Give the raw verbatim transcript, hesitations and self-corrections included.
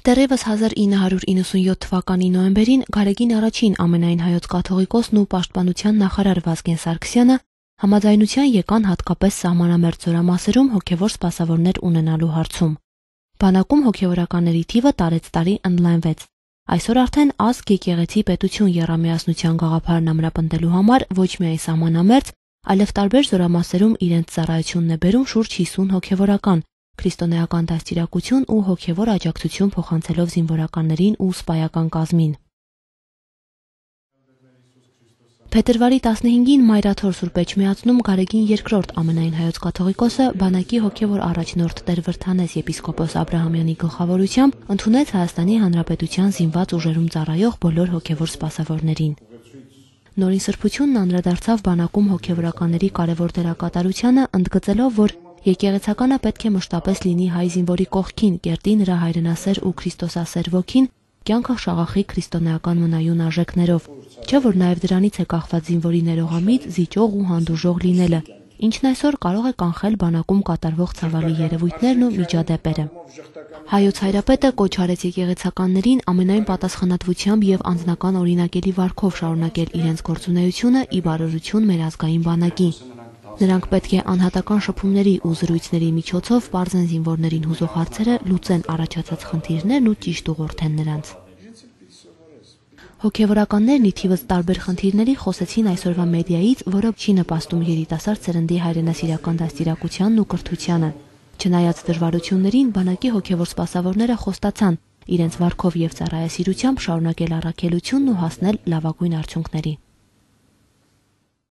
Դեռևս հազար ինը հարյուր իննսունյոթ թվականի նոյեմբերին Գարեգին առաջին ամենայն հայոց կաթողիկոսն ու պաշտպանության նախարար Վազգեն Սարգսյանը համաձայնության եկան հատկապես սահմանամերձ զորամասերում հոգևոր սպասավորներ ունենալու հարցում։ Բանակում հոգևորականների թիվը տարեց տարի ընդլայնվեց։ Այսօր արդեն ազգ եկեղեցի պետություն եռամիասնության գաղափարն ամրապնդելու համար ոչ միայն սահմանամերձ, այլև տարբեր զորամասերում իրենց ծառայությունն է բերում շուրջ հիսուն հոգևորական, քրիստոնեական դաստիարակություն ու հոգևոր աջակցություն փոխանցելով զինվորականներին ու սպայական կազմին։ Փետրվարի տասնհինգին Մայրաթոր Սուրբ Էջմիածնում Գարեգին երկրորդ ամենայն հայոց կաթողիկոսը բանակի հոգևոր առաջնորդ Տեր Վրդանես եպիսկոպոս Աբրահամյանի գլխավորությամբ ընդունեց Հայաստանի Հանրապետության զինված ուժերում ծառայող բոլոր հոգևոր սպասավորներին։ Նորին սրբությունն անդրադարձավ բանակում հոգևորականների կարևոր դերակատարությանը, ընդգծելով, որ եկեղեցականը պետք է մշտապես լինի հայ զինվորի կողքին, կերտի նրա հայրենասեր ու քրիստոսասեր ոգին, կյանքը շաղախի քրիստոնեական մնայուն արժեքներով, չէ՞ որ նաև դրանից է կախված զինվորի ներողամիտ, զիջող ու հանդուրժող լինելը, ինչն այսօր կարող է կանխել բանակում կատարվող ցավալի երևույթներն ու միջադեպերը։ Հայոց Հայրապետը կոչ արեց եկեղեցականներին ամենայն պատասխանատվությամբ եւ անձնական օրինակելի վարքով շարունակել իրենց գործունեությունը ի բարօրություն մեր ազգային բանակի։ Նրանք պետք է անհատական շփումների ու զրույցների միջոցով պարզեն զինվորներին հուզող հարցերը, լուծեն առաջացած խնդիրներն ու ճիշտ ուղղորդեն նրանց։ Հոգևորականներն ի թիվս տարբեր խնդիրների խոսեցին այսօրվա մեդիայից, որը չի նպաստում երիտասարդ սերնդի հայրենասիրական դաստիարակությանն ու կրթությանը։ Չնայած դժվարություններին, բանակի հոգևոր սպասավորները խոստացան իրենց վարքով եւ ծառայասիրությամբ շարունակել առաքելությունն ու հասնել լավագույն արդյունքների։